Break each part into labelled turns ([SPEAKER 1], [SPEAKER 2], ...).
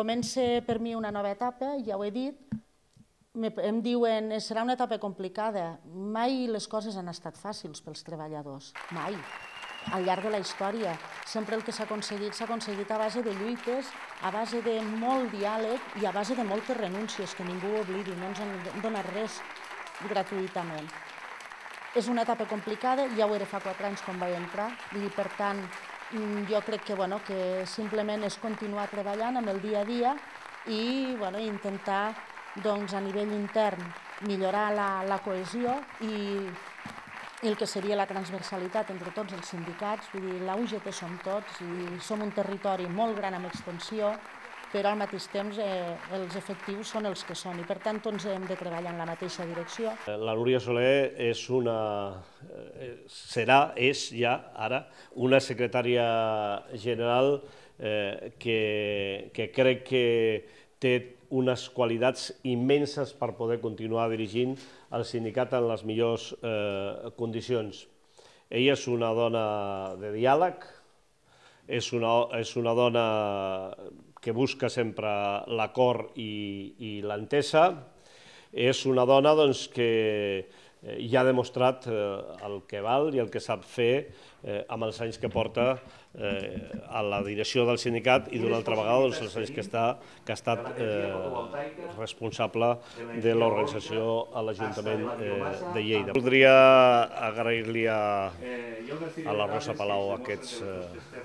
[SPEAKER 1] comença per mi una nova etapa, ja ho he dit. Em diuen, serà una etapa complicada. Mai les coses han estat fàcils pels treballadors, mai. Al llarg de la història, sempre el que s'ha aconseguit a base de lluites, a base de molt diàleg i a base de moltes renúncies, que ningú oblidi, no ens han donat res gratuïtament. És una etapa complicada, ja ho era fa 4 anys quan vaig entrar, i per tant jo crec que simplement és continuar treballant amb el dia a dia i intentar a nivell intern millorar la cohesió i el que seria la transversalitat entre tots els sindicats. Vull dir, la UGT som tots i som un territori molt gran amb extensió, però al mateix temps els efectius són els que són i per tant tots hem de treballar en la mateixa direcció.
[SPEAKER 2] La Núria Soler és ja ara una secretària general que crec que té unes qualitats immenses per poder continuar dirigint el sindicat en les millors condicions. Ella és una dona de diàleg, és una dona que busca sempre l'acord i l'entesa, és una dona que ja ha demostrat el que val i el que sap fer amb els anys que porta a la direcció del sindicat i d'una altra vegada els anys que ha estat responsable de l'organització a l'Ajuntament de Lleida. Voldria agrair-li a la Rosa Palau aquests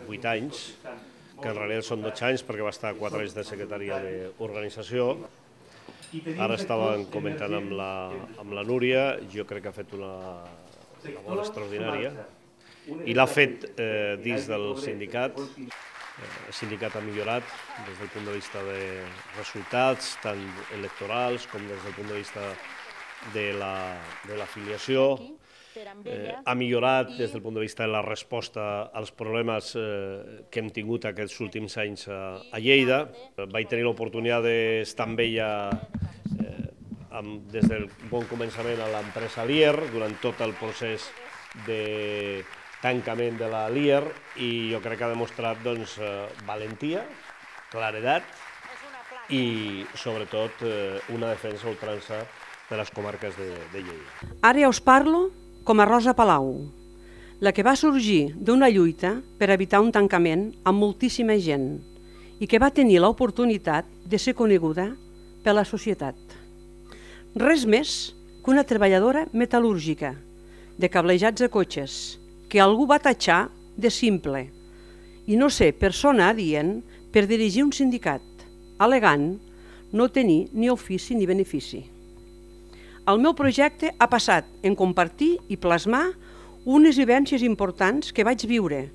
[SPEAKER 2] 8 anys, que en realitat són 12 anys perquè va estar 4 anys de secretària d'organització. Ara estàvem comentant amb la Núria, jo crec que ha fet una labor extraordinària i l'ha fet dins del sindicat. El sindicat ha millorat des del punt de vista de resultats, tant electorals com des del punt de vista de l'afiliació. Ha millorat des del punt de vista de la resposta als problemes que hem tingut aquests últims anys a Lleida. Vaig tenir l'oportunitat d'estar amb ella des del bon començament a l'empresa Lier, durant tot el procés de tancament de la Lier, i jo crec que ha demostrat valentia, claredat i sobretot una defensa a ultrança de les comarques de Lleida.
[SPEAKER 3] Ara ja us parlo com a Rosa Palau, la que va sorgir d'una lluita per evitar un tancament amb moltíssima gent i que va tenir l'oportunitat de ser coneguda per la societat. Res més que una treballadora metal·lúrgica, de cablejats de cotxes, que algú va tatxar de simple i no ser persona adient per dirigir un sindicat, al·legant no tenir ni ofici ni benefici. El meu projecte ha passat en compartir i plasmar unes vivències importants que vaig viure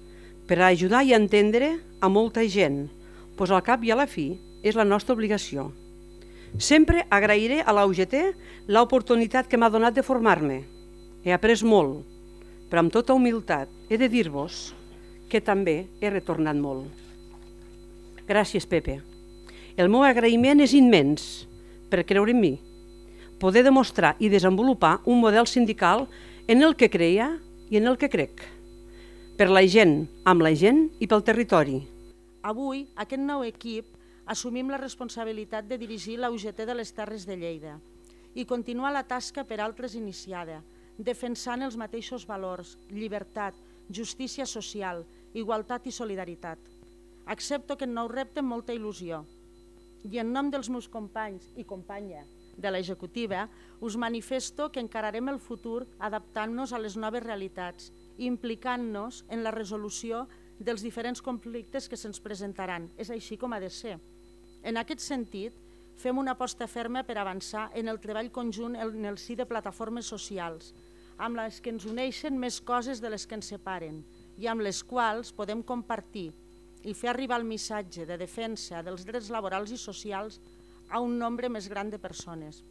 [SPEAKER 3] per a ajudar i entendre a molta gent, doncs al cap i a la fi és la nostra obligació. Sempre agrairé a la UGT l'oportunitat que m'ha donat de formar-me. He après molt, però amb tota humilitat he de dir-vos que també he retornat molt. Gràcies, Pepe. El meu agraïment és immens per creure en mi, poder demostrar i desenvolupar un model sindical en el que creia i en el que crec. Per la gent, amb la gent i pel territori.
[SPEAKER 1] Avui, aquest nou equip, assumim la responsabilitat de dirigir la UGT de les Terres de Lleida i continuar la tasca per altres iniciada, defensant els mateixos valors, llibertat, justícia social, igualtat i solidaritat. Accepto aquest nou repte amb molta il·lusió i en nom dels meus companys i companya de l'executiva us manifesto que encararem el futur adaptant-nos a les noves realitats i implicant-nos en la resolució dels diferents conflictes que se'ns presentaran. És així com ha de ser. En aquest sentit, fem una aposta ferma per avançar en el treball conjunt en el si de plataformes socials, amb les que ens uneixen més coses de les que ens separen i amb les quals podem compartir i fer arribar el missatge de defensa dels drets laborals i socials a un nombre més gran de persones.